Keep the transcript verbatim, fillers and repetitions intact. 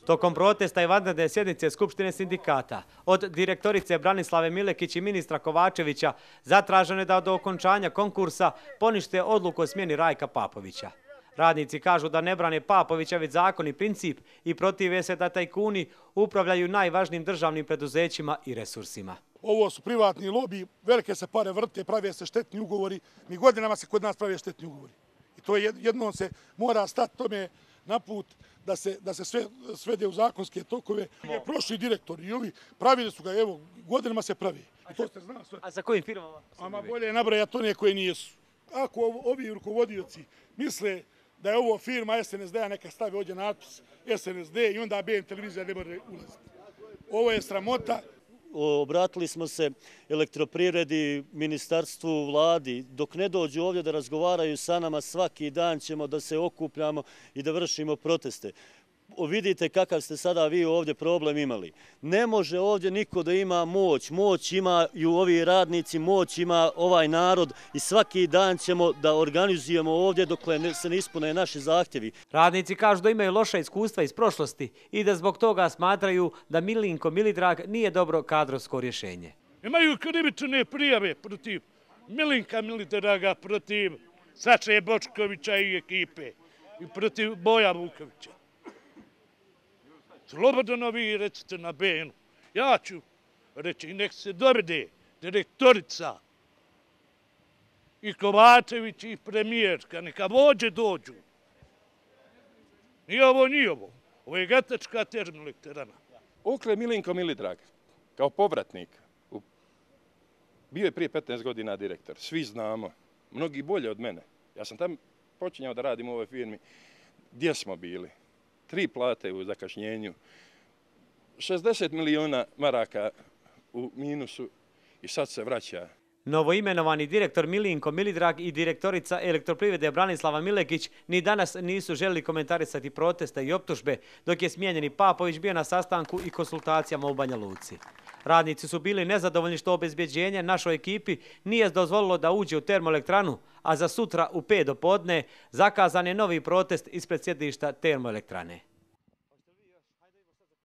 Tokom protesta i vanredne sjednice Skupštine sindikata od direktorice Branislave Milekić i ministra Kovačevića zatraženo je da do okončanja konkursa ponište odluku o smjeni Rajka Papovića. Radnici kažu da ne brane Papovića već zakon i princip i protive se da tajkuni upravljaju najvažnijim državnim preduzećima i resursima. Ovo su privatni lobi, velike se pare vrte, prave se štetni ugovori, ni godinama se kod nas prave štetni ugovori. I to jednom se mora stati tome na put da se, da se sve svede u zakonske tokove. Prošli direktori i ovi pravili su ga, evo, godinama se pravi. I to se zna sve. A za kojim firmama? Ama bolje je nabrajati one koje nijesu. Ako ovi rukovodioci misle da je ovo firma es en es de-a, neka stavi ovdje natpis es en es de i onda be en televizija ne može ulaziti. Ovo je sramota. Obratili smo se elektroprivredi, ministarstvu, vladi. Dok ne dođu ovdje da razgovaraju sa nama, svaki dan ćemo da se okupljamo i da vršimo proteste. Vidite kakav ste sada vi ovdje problem imali. Ne može ovdje niko da ima moć. Moć imaju ovi radnici, moć ima ovaj narod i svaki dan ćemo da organizujemo ovdje dokle se ne ispune naši zahtjevi. Radnici kažu da imaju loša iskustva iz prošlosti i da zbog toga smatraju da Milinko Milidrag nije dobro kadrovsko rješenje. Imaju krivične prijave protiv Milinka Milidraga, protiv Saše Bočkovića i ekipe i protiv Boja Vukovića. Slobodno vi recite na be enu. Ja ću reći, nek se dovede direktorica i Kovačević i premijerka, neka vođe dođu. Nije ovo, nije ovo. Ovo je gatačka termoelektrana. Ukle Milinko Milidrag, kao povratnik, bio je prije petnaest godina direktor. Svi znamo, mnogi bolje od mene. Ja sam tam počinjao da radim u ovoj firmi. Gdje smo bili? Tri plate u zakašnjenju, šezdeset miliona maraka u minusu i sad se vraća. Novoimenovani direktor Milinko Milidrag i direktorica elektroprivrede Branislava Milekić ni danas nisu želili komentarisati proteste i optužbe, dok je smijenjeni Papović bio na sastanku i konsultacijama u Banja Luci. Radnici su bili nezadovoljni što obezbjeđenje našoj ekipi nije dozvolilo da uđe u termoelektranu, a za sutra u pet do podne zakazan je novi protest ispred sjedišta termoelektrane.